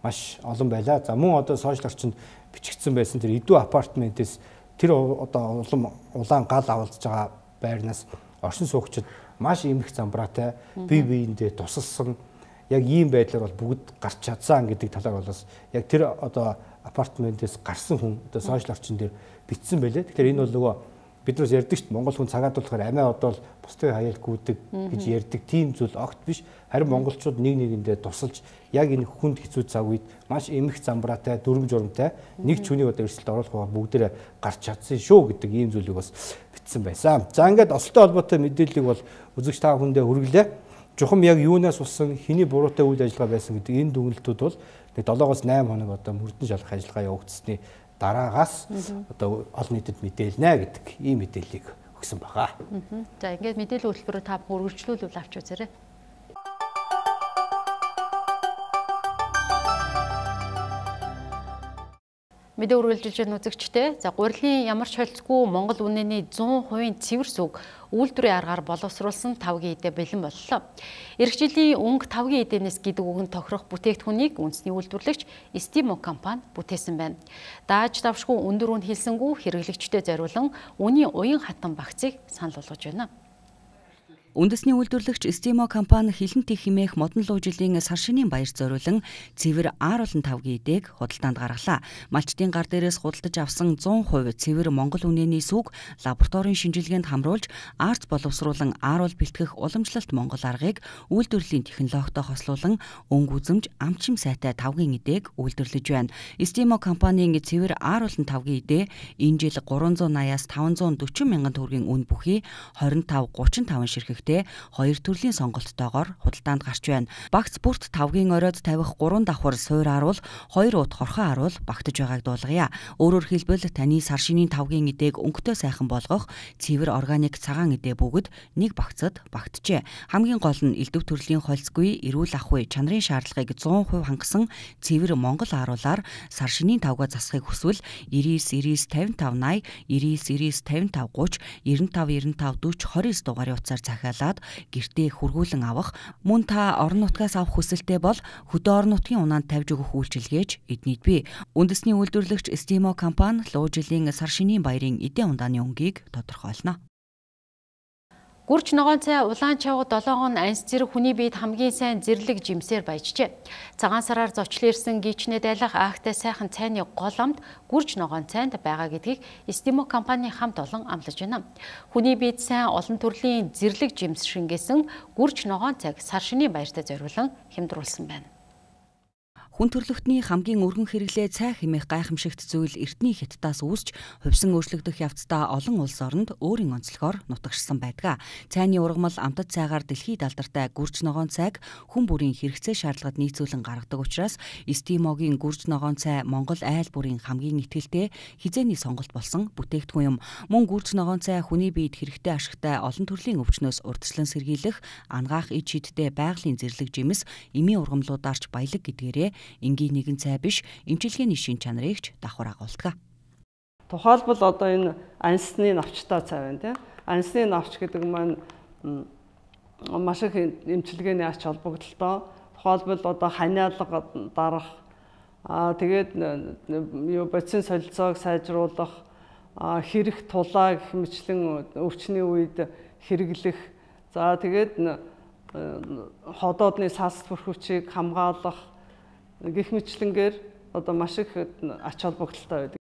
маш олон байлаа. За мөн одоо сошиал орчинд бичигдсэн байсан тэр Идүү апартментээс тэр одоо улам улаан гал авалдж байгаа байрнаас оршин суугчид маш имэх замбраатай бие биендээ тусалсан яг ийм байдлаар бол бүгд гарч чадсан гэдэг талаар бол яг тэр одоо апартментээс гарсан хүн одоо сошиал орчин дээр бичсэн байлээ. Тэгэхээр энэ бол нөгөө биднээс ярьдаг шүү дээ. Монгол хүн цагаад болохоор амиа одоо л бусдыг хаяал гүйдэг гэж ярьдаг тийм зүйл огт биш. Харин монголчууд нэг нэгэндээ тусалж яг энэ хүнд хэцүү цаг үед маш эмх замбраатай, дүрм журамтай нэг ч хүний одоо эрсдэлд оруулах байгаа бүгдээрээ гарч чадсан шүү гэдэг ийм зүйлийг бас бичсэн байсан. За ингээд ослтой холбоотой мэдээллийг бол үзэгч та бүхэндээ хүргэлээ. Жухам яг юунаас болсон, хэний буруутай үйл ажиллагаа байсан гэдэг энэ дүгнэлтүүд бол нэг долоогоос найм хоног одоо мөрдөн шалгах ажиллагаа явагдсны дараагаас одоо олон нийтэд мэдээлнэ гэдэг ийм мэдээллийг өгсөн байгаа. За ингээд мэдээллийн хөтөлбөрөөр та бүхэн үргэлжлүүлвэл авч үзээрэй. Мэдээ үргэлжилж байгаа үзэгчтэй. За гурилын ямар ч холцгүй Монгол үнэний зуун хувийн цэвэр сүг үйлдвэрийн аргаар боловсруулсан тавгийн эдээ бэлэн боллоо. Ирэх жилийн өнгө тавгийн эдээнээс гэдэг үгэнд тохирох бүтээгдэхүүнийг үндэсний үйлдвэрлэгч Estimo компани бүтээсэн байна. Дааж давшгүй өндөр үн хэлсэнгүү хэрэглэгчдэд зориулан үнийн уян хатан багцыг санал болгож байна. Үндэсний үйлдвэрлэгч Estimo компани хилэнтий хэмээх модон луу жилийн сар шинийн баяр зориулан цэвэр ар олон тавгийн эдээг худалдаанд гаргалаа. Малчдын гар дээрээс худалдаж авсан зуун хувь цэвэр Монгол үнэний сүг лабораторийн шинжилгээнд хамруулж арц боловсруулан ар бол бэлтгэх уламжлалт Монгол аргыг үйлдвэрлэлийн технологитой хослуулан өнгө үзэмж амчим сайтай тавгийн эдээг үйлдвэрлэж байна. Estimo компанийн цэвэр ар олон тавгийн эдээ энэ жил гурван зуун наяас таван зуун дөрвөн мянган төгрөгийн үн бүхий двадцать пять гучин таван ширхэг хоёр төрлийн сонголттойгоор худалдаанд гарч байна. Багц бүрт тавгийн оройд тавих гурван давхар суур аруул, хоёр ут хорхон аруул багтаж байгааг дуулгая. Өөрөөр хэлбэл таны сар шинийн тавгийн эдээг өнгөтэй сайхан болгох цэвэр органик цагаан эдээ бүгд нэг багцад багтжээ. Хамгийн гол нь элдв төрлийн холцгүй, эрүүл ахуй, чанарын шаардлагыг зуун хувь хангасан цэвэр Монгол аруулаар сар шинийн тавгаа засахыг хүсвэл девять девять пятьдесят пять девять девять пятьдесят пять тридцать девять девяносто пять сорок девять дугаар утсаар захиалаад гэртээ хургуулan авах, мөн та орон нутгаас авах хүсэлтэй бол хөдөө орон нутгийн унаанд тавьж өгөх үйлчилгээж эднийд бий. Үндэсний үйлдвэрлэгч Estimo компани луу жилийн сар шинийн баярын эдийн ундааны өнгийг тодорхойлно. Гүрч ногоон цай улаан чавга долоон анс зэрэг хүний биед хамгийн сайн зэрлэг жимсээр баяжжээ. Цагаан сараар зочлон ирсэн гичнэд айлах аахтай сайхан цайны гол амт гүрч ногоон цайнд байгаа гэдгийг Estimo компани хамт олон амлаж байна. Хүний биед сайн олон төрлийн зэрлэг жимс шингээсэн гүрч ногоон цайг сар шинийн баяртай зориулан хямдруулсан байна. Хүн төрлөختний хамгийн өргөн хэрэглээ цай хэмээх гайхамшигт зүйл Эртний Хятадаас үүсч хувьсан өөрчлөгдөх явцдаа олон улс оронд өөрийн онцлогоор нутагшсан байдаг. Цайны ургамал амтад цайгаар дэлхийд алдартай гүрч ногоон цайг хүн бүрийн хэрэгцээ шаардлагад нийцүүлэн гаргадаг учраас Estimoгийн гүрч ногоон цай Монгол айл бүрийн хамгийн ихтгэлтэй хизээний сонголт болсон бүтээгдэхүүн юм. Мөн гүрч ногоон цай хүний биед хэрэгтэй ашигтай олон төрлийн өвчнөөс урьдчилан сэргийлэх, ангаах ид шидтэй байгалийн зэрлэг жимс, эмийн ургамлуудаарч баялаг гэдгээрээ энгийн нэгэн цай биш, эмчилгээний шин чанарыг ч давхар агуулдаг. Тухайлбал одоо энэ ансны навчтай цай байна тийм. Ансны навч гэдэг маань маш их эмчилгээний ач холбогдолтой. Тухайлбал одоо ханиалга дарах, аа тэгээд юу бодисын солилцоог сайжруулах, хэрэг тулаа гэх мэтлэн өвчний үед хэрэглэх. За тэгээд ходоодны сас бүрхүүчийг хамгаалах гэх мэтлэнгээр одоо маш их ач холбогдолтой байдаг.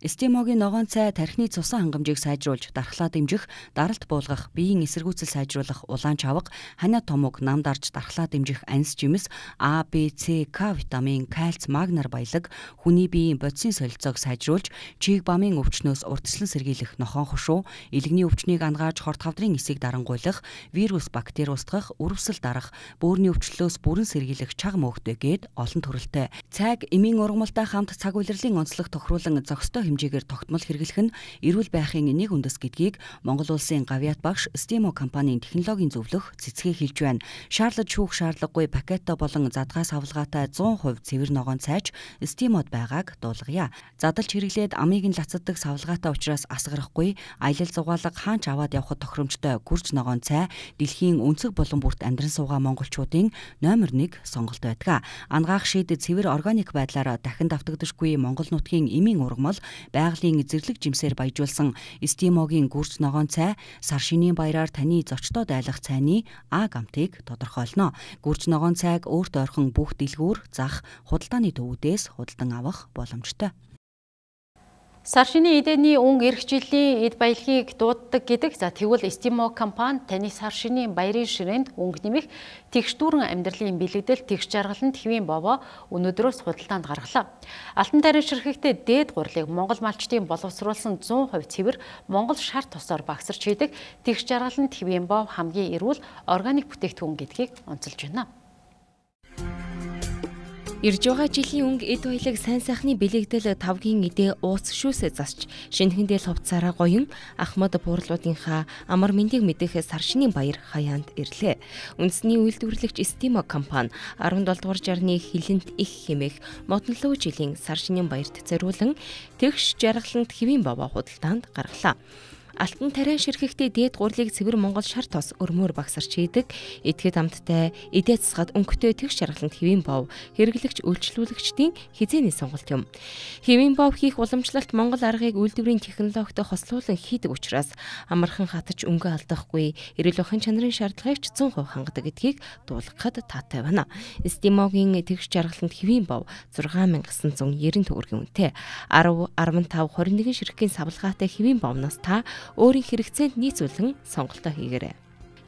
Estimoгийн ногоон цай тархины цусан хангамжийг сайжруулж, дархлаа дэмжих, даралт буулгах, биеийн эсэргүүцэл сайжруулах улаан чавга, ханиа томог, нам дарж дархлаа дэмжих анс жимс, А, Б, С, К витамин, кальц, магнаар баялаг, хүний биеийн бодисын солилцоог сайжруулж, чийг бамын өвчнөөс урьдчилан сэргийлэх нохоон хушуу, элэгний өвчнийг ангааж хорт хавдрын эсийг дарангуйлах, вирус, бактери устгах, үрвсэл дарах, бөөрийн өвчлөлөөс бүрэн сэргийлэх чаг мөөгтэй гээд олон төрөлтэй. Цайг эмийн ургамалтай хамт цаг улирлын онцлог тохируулан зохистой хэмжээгээр тогтмол хэрэглэх нь эрүүл байхын нэг үндэс гэдгийг Монгол улсын гавьяат багш Estimo компанийн технологийн зөвлөх цэцгээ хэлж байна. Шаарлаж шүүх шаардлагагүй пакетто болон задгаас авалгаатай сто процент цэвэр ногоон цайч Estimod байгааг дуулгая. Задалж хэрэглээд амийг нь лацаддаг савлгаатай учраас асгарахгүй, аялал зугаалга хаанч аваад явхад тохиромжтой гүрч ногоон цай дэлхийн өнцөг болон бүрт амьдран суугаа монголчуудын номер нэг сонголт байдаг. Ангаах шид цэвэр органик байдлаар дахин давтагдашгүй Монгол нутгийн эмийн ургамал байгалийн зэрлэг жимсээр баяжуулсан Estimoгийн гүрч ногоон цай сар шинийн баяраар таны зочдод айлах цайны А гамтыг тодорхойлно. Гүрч ногоон цайг өөрт ойрхон бүх дэлгүүр, зах, худалдааны төвүүдээс худалдан авах боломжтой. Сар шинийн эдэний өнгө эх жилийн эд баялагийг дууддаг гэдэг. За тэгвэл Estimo компани таны сар шинийн баярын ширээнд өнгө нэмэх тэгш дүүрэн амьдралын бэлэгдэл тэгш жаргалан тэхвийн бовоо өнөөдрөөс худалдаанд гаргалаа. Алтан тарин ширхэгтээ дээд гурлыг Монгол малчдын боловсруулсан зуун хувь цэвэр Монгол шар тусаар багсарч хийдэг тэгш жаргалан тэхвийн бов хамгийн эрүүл органик бүтээгдэхүүн гэдгийг онцолж байна. Ирж байгаа жилийн өнгө эд баялаг сайн сайхны бэлэгдэл тавгийн эдээ ууц шүүсээ засч шинэхэндээ хувцаараа гоён Ахмад буурлуудынхаа амар мэндийг мэдэх сар шинийн баяр хаяанд ирлээ. Үндэсний үйлдвэрлэгч Estimo компани арван долоо дугаар жарны хилэнт их хэмээх модон луу жилийн сар шинийн баярт зориулан тэгш жаргалант хэвийн бовоо худалдаанд гаргалаа. Алтан тарин ширхэгтээ дээд гурлыг цэвэр Монгол шар тос өрмөөр багсарч хийдэг эдгэд амттай эдээ засгаад өнгөтэй тэгш жаргалант хэвийн бов хэрэглэгч үйлчлүүлэгчдийн хизээний сонголт юм. Хэвийн бов хийх уламжлалт Монгол аргыг үйлдвэрийн технологид хослуулан хийдэг учраас амархан хатаж өнгө алдахгүй эрүүл ухаан чанарын шаардлагыг цэвэн хувь хангадаг гэдгийг дуулгахад таатай байна. Estimoгийн тэгш жаргалант хэвийн бов зургаан мянга гусан зуун нэрийн төгрөгийн үнэтэй арав, арван тав, хорин нэгэн ширхгийн савлгаатай хэвийн бовноос та өөрийн хэрэгцээнд нийцүүлэн сонголтоо хийгээрэй.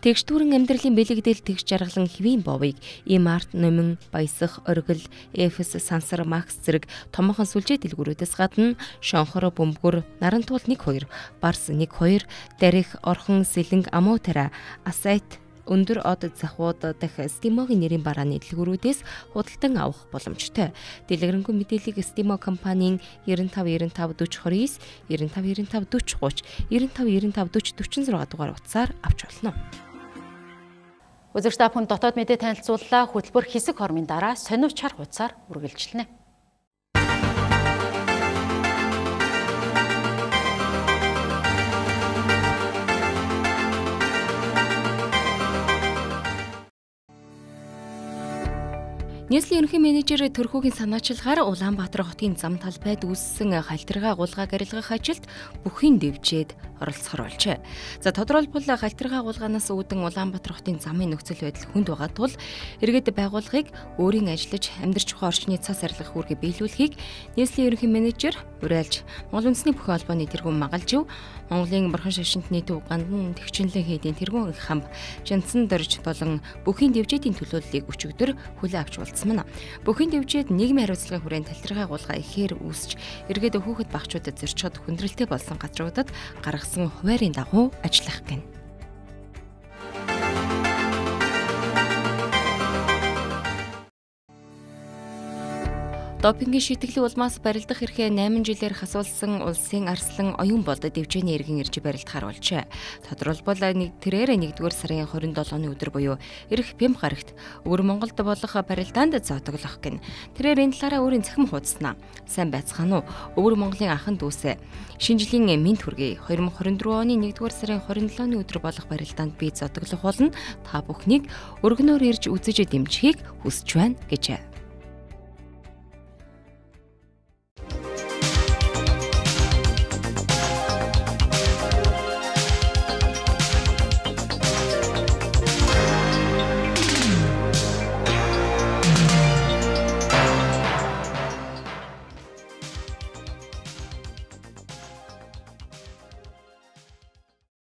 Тэгш дүүрэн амьдралын бэлэгдэл тэгш жаргалан хэвийн бовыг Имарт, Номин, Баясах, Оргил, Эфес, Сансар, Макс зэрэг томоохон сүлжээ дэлгүүрүүдээс гадна Шонхор, Бөмбөр, Нарантуул нэг хоёр, Барс нэг хоёр, Дарих, Орхон, Сэлэнг, Амуутара, Асайт өндөр од захууд дах Estimoгийн нэрийн барааны дэлгүүрүүдээс худалдан авах боломжтой. Дэлгэрэнгүй мэдээллийг Estimo компанийн девять тав девять тав forty девять девять тав девять тав forty thirty девять тав девять тав forty forty six дугаар утсаар авч болно. Үзэгч та бүхэн дотоод мэдээ танилцууллаа. Хөтөлбөр хэсэг хормын дараа сониуч чарах утсаар үргэлжлэнэ. Нийслэлийн ерөнхий менежер Төрхөгийн санаачилгаар Улаанбаатар хотын зам талбайд үүссэн хальтргаа агуулгаг арилгах ажилд бүхий дэвжээд оролцохоор болжээ. За тодорхойлбол хальтргаа агуулганаас үүдэн Улаанбаатар хотын замын нөхцөл байдал хүнд байгаа тул иргэд байгууллагыг өөрийн ажиллаж амьдрч ухаан орчны цас арилгах үүргээ биелүүлэхийг нийслэлийн ерөнхий менежер уриалж Монгол Үндэсний бүхэн холбооны тэргүүн Магалжив, Монголын Бурхан шашинтны төв Гандан Тэгчинлэн хийдийн тэргүүн их хамб Жанцсан дорж болон бүхий дэвжээдийн төлөөллийг өчигдөр хүлээн авч байна. Бүхий дэвжээд нийгмийн хариуцлагын хүрээнд талхиргаа агуулга ихээр үүсч иргэд хүүхэд багчуудад зорчход хүндрэлтэй болсон газруудад гаргасан хуваарийн дагуу ажиллах гэнэ. Допингийн шийтгэлэн улмаас барилдах эрхээ найман жилээр хасуулсан улсын арслан оюун болд дэвжээний иргэн ирж барилдахаар болжээ. Тодорхойлбол нэг тэрээр нэгдүгээр сарын двадцать седьмийн өдөр буюу эрх Пем гарагт өвөр Монголд болох барилдаанд зоотоглох гэн. Тэрээр энэ талаараа өөрийн цахим хуудаснаа. Сайн байцгаана уу? Өвөр Монголын анхан дүүсээ шинжлэлийн мэд хүргэе. двадцать twenty-four оны нэгдүгээр сарын twenty-seven-ний өдөр болох барилдаанд би зоотоглох болно. Та бүхнийг өргөнөөр ирж үзэж дэмжихийг хүсэж байна гэжээ.